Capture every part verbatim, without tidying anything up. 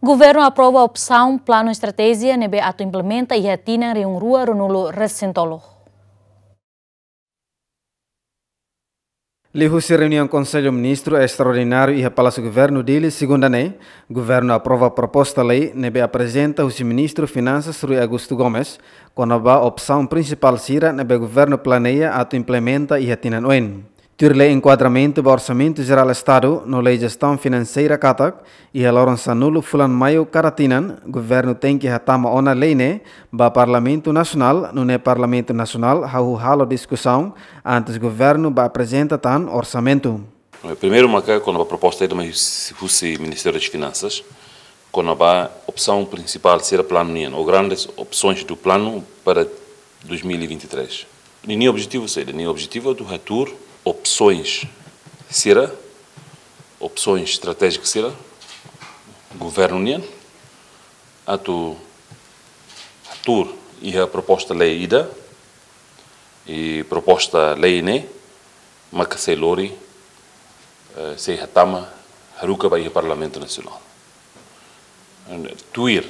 Governu aprova opsaun planu estratéjia ne'ebé atu implementa iha tinan rihun rua ruanulu resin tolu. Liuhusi reuniaun Konsellu Ministru Estraordináriu iha Palásiu Governu Dili, Segunda ne'e, Governu aprova proposta lei ne'ebé aprezenta husi Ministru Finansas Rui Augusto Gomes, kona-ba opsaun prinsipál sira ne'ebé Governu planeia atu implementa iha tinan oin. Tuir Lei Enkuadramentu ba Orsamentu Jerál Estadu no Lei Jestaun Finanseira katak, iha loron sanulu fulan Maiu kada tinan, Governu tenke hatama ona lei ne'e ba Parlamentu Nasionál, nune'e Parlamentu Nasionál hahú halo diskusaun antes Governu bá aprezenta tan orsamentu. Primeiru maka kona-ba proposta ida mai husi, husi Ministériu das Finansas, kona-ba opsaun prinsipál sira planu nian, ou grandes opções do plano para dois mil e vinte e três. Ninia objetivu saida? Ninia objetivu atu hatuur opsoens sira, opsoens estratéjikas sira Governu nian, atu hatuur iha proposta lei ida, i proposta lei ne'e maka sei lori, eh, sei hatama haruka ba iha Parlamentu Nasionál. Tuir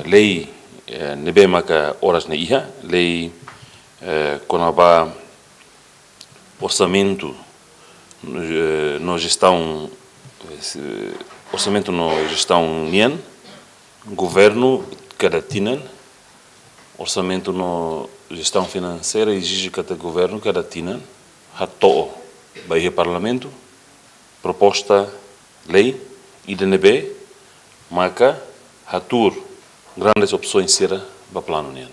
lei, eh, ne'ebé maka oras ne'e iha, lei, eh, kona-ba orsamentu, eh, no jestaun, eh, orsamentu no jestaun nian, Governu kada tinan, orsamentu no jestaun finanseira ezije katak Governu kada tinan hato'o ba iha Parlamentu proposta lei ida ne'ebé maka hatuur grandes opsoens sira ba planu nian.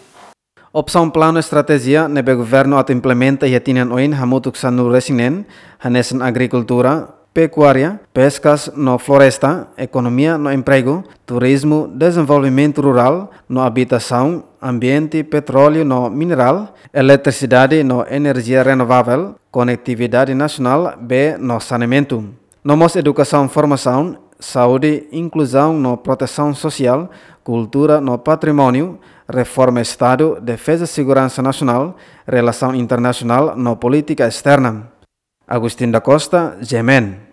Opsaun planu estratéjia ne'ebé Governu atu implementa iha tinan oin hamutuk sanulu resin neen, hanesan agrikultura, pekuária, peskas no floresta, ekonomia no empregu, turizmu, dezenvolvimentu rurál no abitasaun, ambiente, petróleu no minerál, eletrisidade no enerjia renovavel, konetividade nasionál, bee no saneamentu. No mós edukasaun, formasaun, saúde, inkluzaun no protesaun sosiál, kultura no patrimóniu, reforma Estadu, defeza seguransa nasionál, relasaun internasionál no polítika esterna. Agustin da Costa, G M N.